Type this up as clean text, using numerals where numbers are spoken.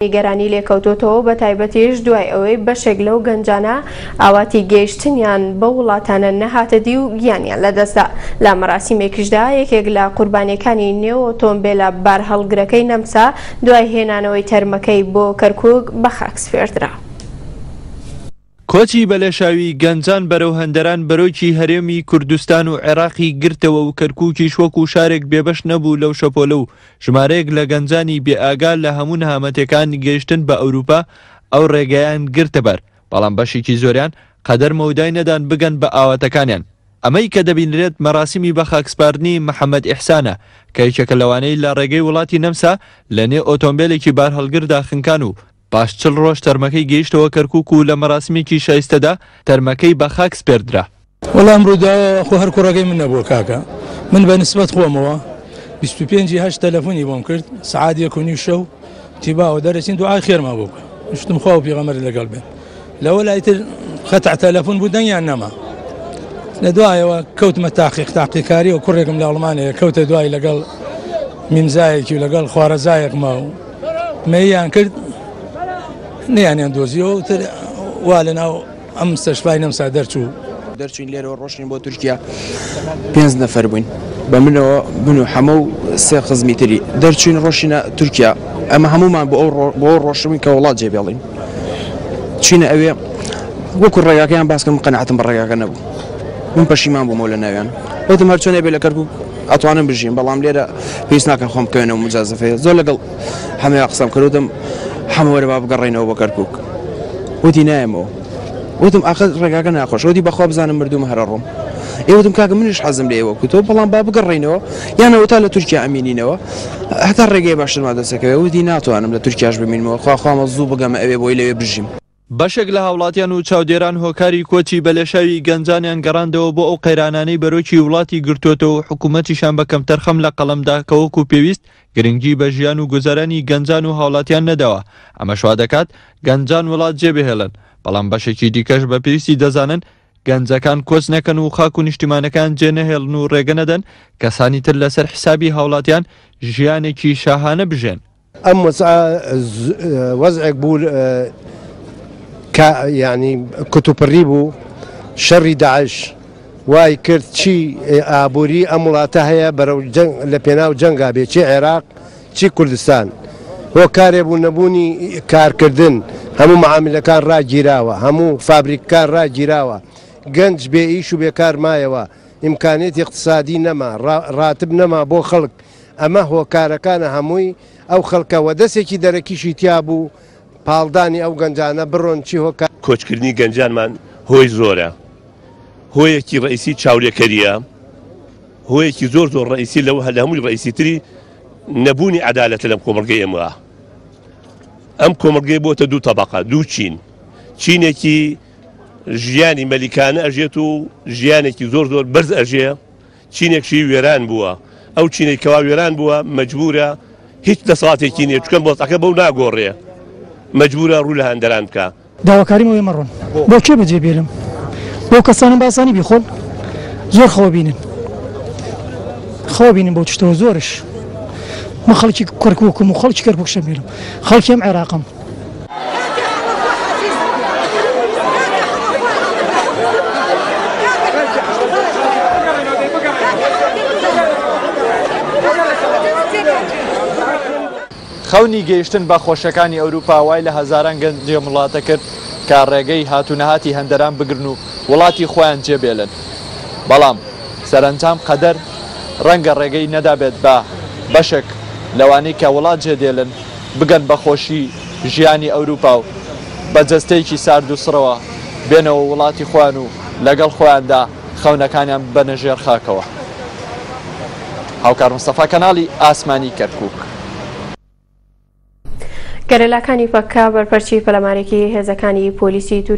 نیگەرانی لێکەوتۆتەوە بە تایبەتیش دوای ئەوەی بەشێک لەو گەنجانە ئاواتی گەیشتنیان بەو وڵاتانە نەهاتە دی و گیانیان لەدەستدا. لە مەراسیمێکیشدا یەکێک لە قوربانیەکانی نێو ئۆتۆمبێلە بارهەڵگرەکەی نەمسا دوای هێنانەوەی تەرمەکەی بۆ کەرکوک بەخاک سپێردرا. کۆچی بەلێشاوی گەنجان بەرەو هەندەران بەرۆکی هەرێمی کوردستان و عێراقی گرتەوە و کەرکوکیش وەکو شارێک بێبەش نەبوو لەو شەپۆلە و ژمارەیەک لە گەنجانی بێئاگا لە هەموو نەهامەتیەکان گەیشتن بە ئەوروپا ئەو ڕێگایان گرتەبەر بەڵام بەشێکی زۆریان قەدەر مەودای نەدان بگەن بە ئاواتەکانیان. ئەمەی کە دەبینرێت مەراسیمی بەخاکسپاردنی محەمەد ئیحسانە کە یەکێکە لەوانەی لە ڕێگەی وڵاتی نەمسا لە نێو ئۆتۆمبێلێکی بارهەڵگردا خنکان و پاش 40 ڕۆژ تەرمەکەی گەیشتەوە کەرکوک و لە مەراسیمێکی شایستەدا تەرمەکەی بە خاک سپێردرا. وەڵا ئەم ڕووداوە خۆ هەر کوڕەکەی من نەبووە کاکە من بە نسبەت خۆمەوە 25 ی هەشت تەلەفۆنی بۆم کرد سەعات یەک و نیو شەو وتی باوە دەرەچین دوعای خێرمان بۆ بکە وتم خوا و پێغەمبەرت لەگەڵ بێت لەوە لای تر قەتع تەلەفۆن بوو دەنگیان نەما لە دوایەوە کەوتمە تاقیق تاقیکاری و کوڕێکم لە ئەڵمانەیە کەوتە دوای لەگەڵ میمزایەکی و لەگەڵ خوارەزایەکما و مەیان کرد نیانیان دۆزیەوە تر وا لەناو ئەم مستەشفای نەمسا دەرچوو. دەرچوین لێرەوە ڕۆشتین بۆ تورکیا پێنج نەفەر بووین بە منەوە من و حەمە و سێ خزمی تری دەرچوین ڕۆشینە تورکیا ئەمە هەمومان بۆ ئەو بۆ ڕۆشتبووین کە وڵات جێ بێڵین چینە ئەوێ وەکو ڕێگاکەیان باس کردم قەناعەتم بە ڕێگاکە نەبوو من پەشیمان بوومەوە لە ناویان وتم هەرچۆنێ بێ لە کەرکوک ئەتوانم بژیم بەڵام لێرە پێویست ناکە خۆم بکەوێنەوە مجازفەیە زۆر لەگەڵ حەمەیا قسەم کرد وتم حەمە وەرە با بگەڕێینەوە بۆ کەرکوک وتی نایەمەوە وتم ئاخر ڕێگاکە ناخۆش وتی بەخوا بزانم مردوومە هەر ئەڕۆم ئێ وتم کاکە منیش حەزم لێیە وەکو تۆ بەڵام با بگەڕێینەوە یان ئەوەتا لە تورکیا ئەمینینەوە هەتا ڕێگەی باشترمان دەستەکەوێ وتی ناتوانم لە تورکیاش بمینمەوە خوا خوامە زوو بگەمە ئەوێ بۆی لەوێ بژیم. بەشێک لە هاوڵاتیان و چاودێران هۆکاری کۆچی بەلێشاوی گەنجانیان گەڕاندەوە بۆ ئەو قەیرانانەی بەرۆکی وڵاتی گرتووەتەوە و حکومەتیشیان بە کەمتەرخەم لە قەڵەمدا کە وەکو پێویست گرنگی بە ژیان و گوزەرانی گەنجان و هاوڵاتیان نەداوە، ئەمەش وادەکات گەنجان وڵات جێبهێڵن، بەڵام بەشێکی دیکەش بە پێویستی دەزانن گەنجەکان کۆچ نەکەن و خاک و نیشتیمانەکەیان جێنەهێڵن و رێگە نەدەن کەسانی تر لەسەر حیسابی هاوڵاتیان ژیانێکی شاهانە بژێن. ئەم وەزعە وەزعێک بوو کە یانی کوتوپڕی بوو، شەڕی داعش وای کرد چی ئابووری ئەم وڵاتە هەیە بەرەو جەنگ لە پێناو جەنگا بێ چی عێراق چی کوردستان هۆکارێ بوو نەبوونی کارکردن هەموو معاملەکان ڕاگیراوە هەموو فابریکەکان ڕاگیراوە گەنج بێ ئیش و بێکار مایەوە ئیمکانیەتی اقتصادی نەما ڕاتب نەما بۆ خەڵک ئەمە هۆکارەکانە هەمووی ئەو خەڵکە وە دەسێکی دەرەکیشی تیا بوو پاڵدانی ئەو گەنجانە بڕۆن چی هۆکار. کۆچکردنی گەنجانمان هۆی زۆرە هۆیەکی ڕەئیسی چاولێکەریە هۆیەکی زۆر زۆر ڕەئیسی لەو لە هەمووی ڕەئیسی تری نەبوونی عەدالەتە لەم کۆمەڵگەی ئێمە ئەم کۆمەڵگەی بۆتە دوو تەبەقە دوو چین چینێکی ژیانی مەلیکانە ئەژێت و ژیانێکی زۆر زۆر بەرز ئەژێ چینێکشی وێران بووە، ئەو چینەی کەوا وێران بووە مەجبوورە هیچ دەسەڵاتێکی نییە، چونکە وەزعەکە بەو ناگۆڕێ، مەجبوورە ڕوو لە هەندەران بکا. داواکاریم ئەوەیە مەڕۆن. بۆ کێ بەجێ بێلم؟ بۆ کەسانم بە ئاسانی بیخۆن؟ زۆر خەوە بینن. خەوە بینن بەو تشتەوە زۆرش. من خەڵکی کەرکوکم و خەڵکی کەرکوکشم بێلم. خەڵکی ئەم عێراقم. خەونی گەیشتن بە خۆشیەکانی ئەوروپا وای لە هەزاران گەنجی ئەم وڵاتە کرد کە ڕێگەی هات و نەهاتی هەندەران بگرن و وڵاتی خۆیان جێبێلن بەڵام سەرەنجام قەدەر ڕەنگە ڕێگەی نەدابێت بە بەشێک لەوانەی کە وڵات جێدێلن بگەن بە خۆشی ژیانی ئەوروپا و بە جەستەیەکی سارد و سڕەوە بێنەوە وڵاتی خۆیان و لەگەڵ خۆیاندا خەونەکانیان ببەنە ژێر خاکەوە. هاوکار مستەفا کەناڵی ئاسمانی کەرکوک. گەریلاکانی پەککە بەرپەرچی پەلامارێکی هێزەکانی پۆلیسی تورکیا.